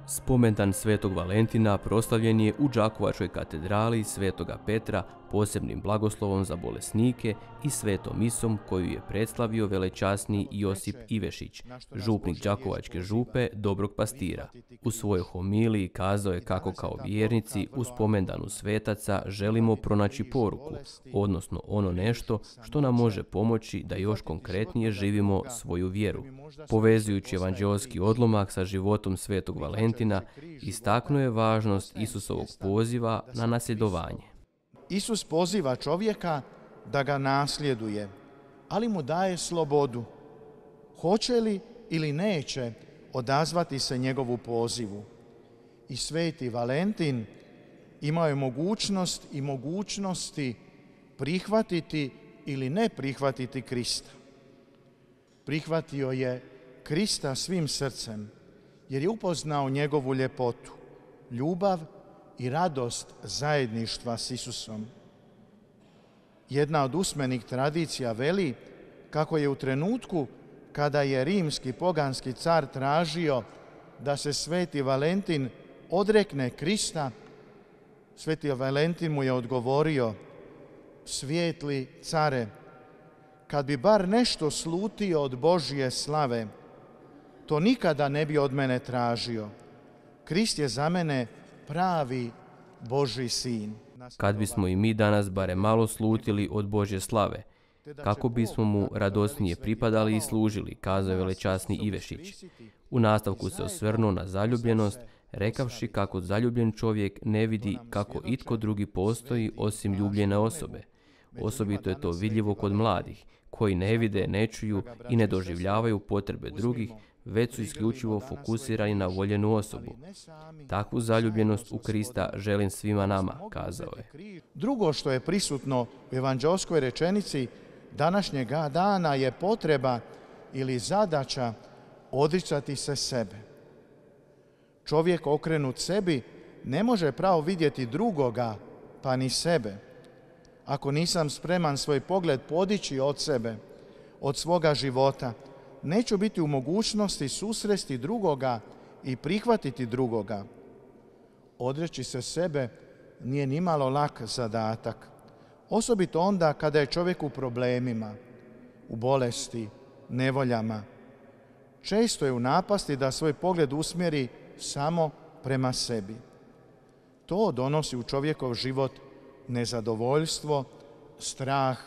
Spomendan Svetog Valentina proslavljen je u Đakovačkoj katedrali Svetoga Petra posebnim blagoslovom za bolesnike i svetom misom koju je predslavio velečasni Josip Ivešić, župnik Đakovačke župe Dobrog Pastira. U svojoj homiliji kazao je kako kao vjernici u spomendanu svetaca želimo pronaći poruku, odnosno ono nešto što nam može pomoći da još konkretnije živimo svoju vjeru. Povezujući evanđeoski odlomak sa životom Svetog Valentina, istaknuo je važnost Isusovog poziva na nasljedovanje. Isus poziva čovjeka da ga nasljeduje, ali mu daje slobodu. Hoće li ili neće odazvati se njegovu pozivu. I Sveti Valentin imao je mogućnost i mogućnosti prihvatiti ili ne prihvatiti Krista. Prihvatio je Krista svim srcem, jer je upoznao njegovu ljepotu, ljubav i radost zajedništva s Isusom. Jedna od usmenih tradicija veli kako je u trenutku kada je rimski poganski car tražio da se Sveti Valentin odrekne Krista, Sveti Valentin mu je odgovorio: svijetli care, kad bi bar nešto slutio od Božje slave, to nikada ne bi od mene tražio. Krist je za mene pravi Božji sin. Kad bismo i mi danas barem malo slutili od Božje slave, kako bismo mu radosnije pripadali i služili, kazao je velečasni Ivešić. U nastavku se osvrnuo na zaljubljenost, rekavši kako zaljubljen čovjek ne vidi kako itko drugi postoji osim ljubljene osobe. Osobito je to vidljivo kod mladih, koji ne vide, ne čuju i ne doživljavaju potrebe drugih, već su isključivo fokusirani na voljenu osobu. Takvu zaljubljenost u Krista želim svima nama, kazao je. Drugo što je prisutno u evanđeoskoj rečenici današnjega dana je potreba ili zadaća odricati se sebe. Čovjek okrenut sebi ne može pravo vidjeti drugoga, pa ni sebe. Ako nisam spreman svoj pogled podići od sebe, od svoga života, neću biti u mogućnosti susresti drugoga i prihvatiti drugoga. Odreći se sebe nije nimalo lak zadatak. Osobito onda kada je čovjek u problemima, u bolesti, nevoljama. Često je u napasti da svoj pogled usmjeri samo prema sebi. To donosi u čovjekov život nezadovoljstvo, strah,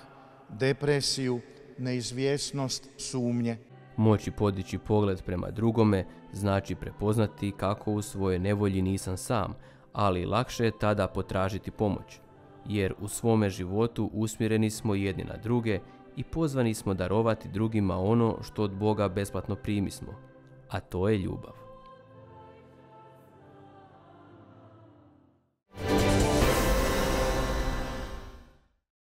depresiju, neizvjesnost, sumnje. Moći podići pogled prema drugome znači prepoznati kako u svojoj nevolji nisam sam, ali lakše je tada potražiti pomoć, jer u svome životu usmjereni smo jedni na druge i pozvani smo darovati drugima ono što od Boga besplatno primismo, a to je ljubav.